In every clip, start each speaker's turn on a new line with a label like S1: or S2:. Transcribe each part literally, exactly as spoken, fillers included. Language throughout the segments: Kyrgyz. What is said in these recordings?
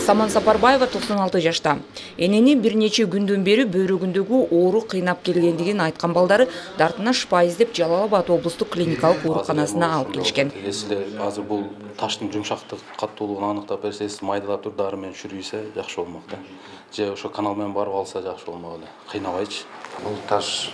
S1: Саман Сапарбаева токсон алты жашта. Энени бир нече күндөн бери бөйрөгүндөгү оору кыйнап келгендигин айткан балдары дартына шыпа издеп Жалал-Абад облустук клиникалык ооруканасына алып келишкен.
S2: Силер азыр бул таштын жумшактык каттуулугун аныктап берсеңиз, майдалап туруп дары менен чүрүйсө жакшы болмок да. Же ошо канал менен барып алса жакшы болмок эле. Кыйнабайчы.
S3: Бул таш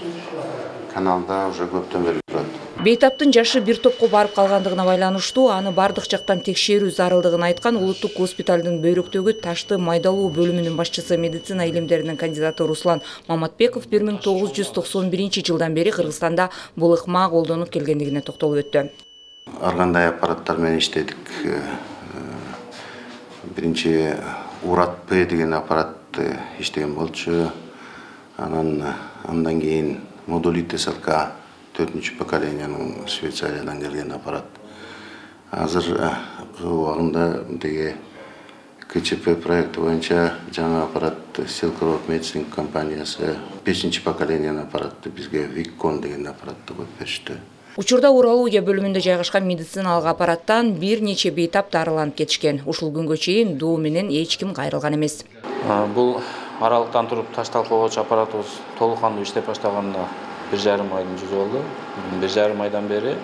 S3: каналда уже көптөн бери турат.
S1: Бейтаптын жашы бир топко барып калгандыгына байланыштуу аны бардык жактан текшерүү зарылдыгын айткан улуттук госпиталдын бөйрөктөгү ташты майдалоо бөлүмүнүн башчысы медицина илимдеринин кандидаты Руслан Маматбеков бир миң тогуз жүз токсон биринчи жылдан бери Кыргызстанда бул ыкма колдонуп келгендигине токтолуп өттү.
S3: Ар кандай аппараттар менен иштедик. Биринчи Урат П деген аппарат иштеген болчу. Анан андан кийин модулит эс эл ка төртүнчү поколенияның Швейцариядан келген аппарат. Азыр убагында деге К Ч П проекти боюнча жаңа аппарат Silk Road Medicine компаниясы бешинчи поколенияның аппаратты бизге Виккон деген аппаратты коюп беришти.
S1: Учурда урология бөлүмүндө жайгашкан медициналык аппараттан бир нече бейтап дарыланып кетишкен. Ушул күнгө чейин доо менен эч ким кайрылган эмес.
S2: Бул аралыктан туруп таш талкалоочу аппаратыбыз толук кандуу иштеп баштаганына бир жарым айдын жүзү болду. Бир жарым айдан бери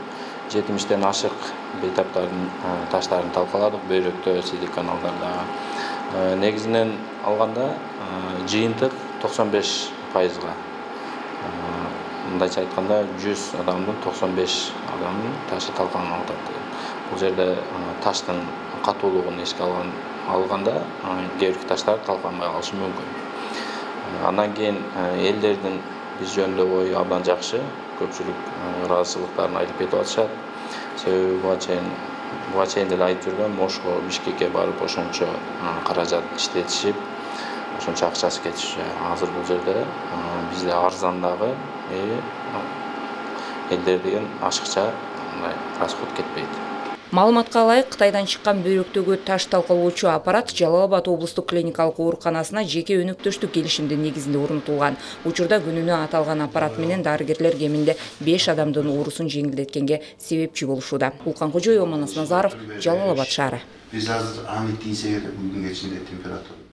S2: жетимиштен ашык бейтаптардын таштарын талкаладык, бөйрөктө, сидик каналдарда. Негизинен алганда жыйынтык токсон беш пайызга. Мындайча айтканда жүз адамдын токсон беш адамдын ташы талкаланып атат. Бул жерде таштын катуулугун эске алган алганда кээ бир таштар талкаланбай калышы мүмкүн. Андан кийин элдердин биз жөнүндө ою абдан жакшы. Көпчүлүк ыраазычылыктарын айтып кетип атышат. Себеби буга чейин буга чейин деле айтып жүргөм, Ошко, Бишкекке барып ошончо каражат иштетишип, ошончо акчасы кетиши. Азыр бул жерде бизде арзандагы элдер деген ашыкча расход кетпейт.
S1: Маалыматка ылайык, Кытайдан чыккан бөйрөктөгү таш талкалоочу аппарат Жалал-Абад облустук клиникалык ооруканасына жеке өнөктөштүк келишимдин негизинде орнотулган. Учурда күнүнө аталган аппарат менен дарыгерлер кеминде беш адамдын оорусун жеңилдеткенге себепчи болушууда. Улкан Кожоева, Манас Назаров, Жалал-Абад шаары.
S3: Биз азыр аны тийсе керек, бүгүнгө чейин температура